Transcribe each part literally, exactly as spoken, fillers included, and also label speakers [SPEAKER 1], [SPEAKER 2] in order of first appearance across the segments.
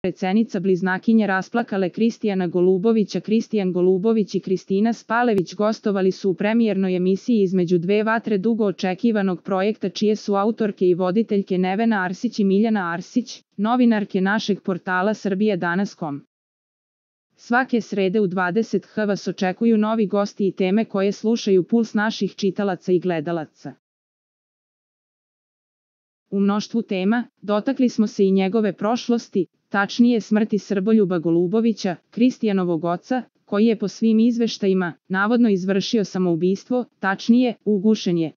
[SPEAKER 1] rečenica bliznakinje rasplakale Kristijana Golubovića. Kristijan Golubović i Kristina Spalević gostovali su u premijernoj emisiji Između dve vatre dugo očekivanog projekta čije su autorke i voditeljke Nevena Arsić i Miljana Arsić, novinarke našeg portala Srbija danas točka com. Svake srede u dvadeset h vas očekuju novi gosti i teme koje slušaju puls naših čitalaca i gledalaca. U mnoštvu tema, dotakli smo se i njegove prošlosti, tačnije smrti Srboljuba Golubovića, Kristijanovog oca, koji je po svim izveštajima, navodno izvršio samoubistvo, tačnije, ugušen je.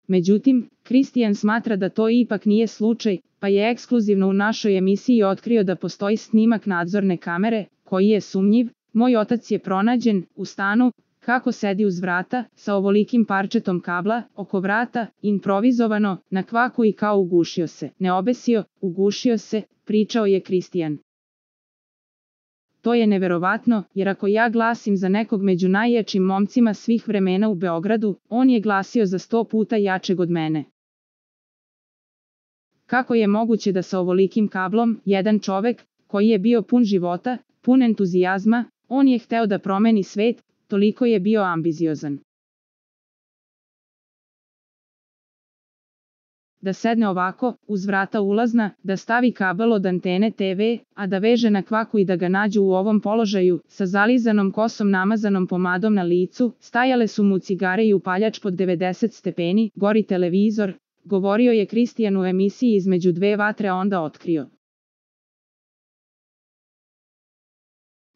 [SPEAKER 1] Međutim, Kristijan smatra da to ipak nije slučaj, pa je ekskluzivno u našoj emisiji otkrio da postoji snimak nadzorne kamere, koji je sumnjiv. Moj otac je pronađen u stanu, kako sedi uz vrata, sa ovolikim parčetom kabla, oko vrata, improvizovano, na kvaku i kao ugušio se. Ne obesio, ugušio se, pričao je Kristijan. To je neverovatno, jer ako ja glasim za nekog među najjačim momcima svih vremena u Beogradu, on je glasio za sto puta jačeg od mene. Kako je moguće da sa ovolikim kablom, jedan čovek, koji je bio pun života, pun entuzijazma, on je hteo da promeni svet, toliko je bio ambiziozan. Da sedne ovako, uz vrata ulazna, da stavi kabel od antene te ve, a da veže na kvaku i da ga nađu u ovom položaju, sa zalizanom kosom namazanom pomadom na licu, stajale su mu cigare i upaljač pod devedeset stepeni, gori televizor, govorio je Kristijan u emisiji Između dve vatre, a onda otkrio.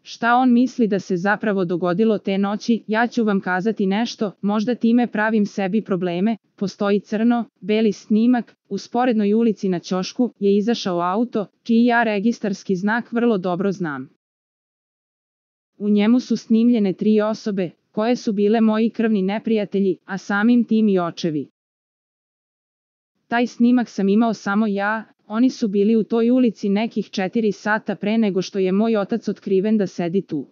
[SPEAKER 1] Šta on misli da se zapravo dogodilo te noći, ja ću vam kazati nešto, možda time pravim sebi probleme. Postoji crno, beli snimak, u sporednoj ulici na ćošku je izašao auto, čiji ja registarski znak vrlo dobro znam. U njemu su snimljene tri osobe, koje su bile moji krvni neprijatelji, a samim tim i očevi. Taj snimak sam imao samo ja. Oni su bili u toj ulici nekih četiri sata pre nego što je moj otac otkriven da sedi tu.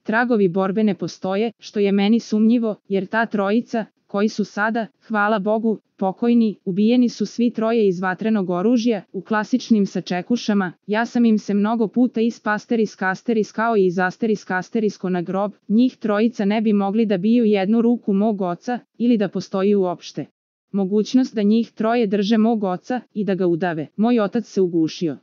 [SPEAKER 1] Tragovi borbe ne postoje, što je meni sumnjivo, jer ta trojica, koji su sada, hvala Bogu, pokojni, ubijeni su svi troje iz vatrenog oružja, u klasičnim sačekušama. Ja sam im se mnogo puta ispasteris kasteris kao i izasteris kasterisko na grob, njih trojica ne bi mogli da biju jednu ruku mog oca, ili da postoji uopšte mogućnost da njih troje drže mog oca i da ga udave. Moj otac se ugušio.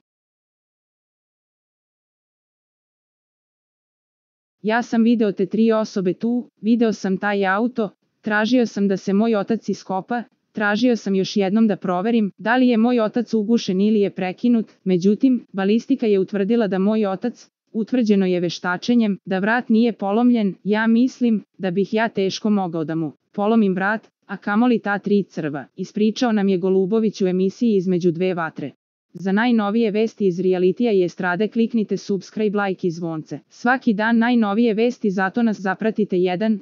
[SPEAKER 1] Ja sam video te tri osobe tu, video sam taj auto, tražio sam da se moj otac iskopa, tražio sam još jednom da proverim da li je moj otac ugušen ili je prekinut, međutim, balistika je utvrdila da moj otac, utvrđeno je veštačenjem, da vrat nije polomljen. Ja mislim da bih ja teško mogao da mu polomim vrat, a kamoli ta tri crva, ispričao nam je Golubović u emisiji Između dve vatre. Za najnovije vesti iz realitija i estrade kliknite subscribe, like i zvonce. Svaki dan najnovije vesti, zato nas zapratite. Jedan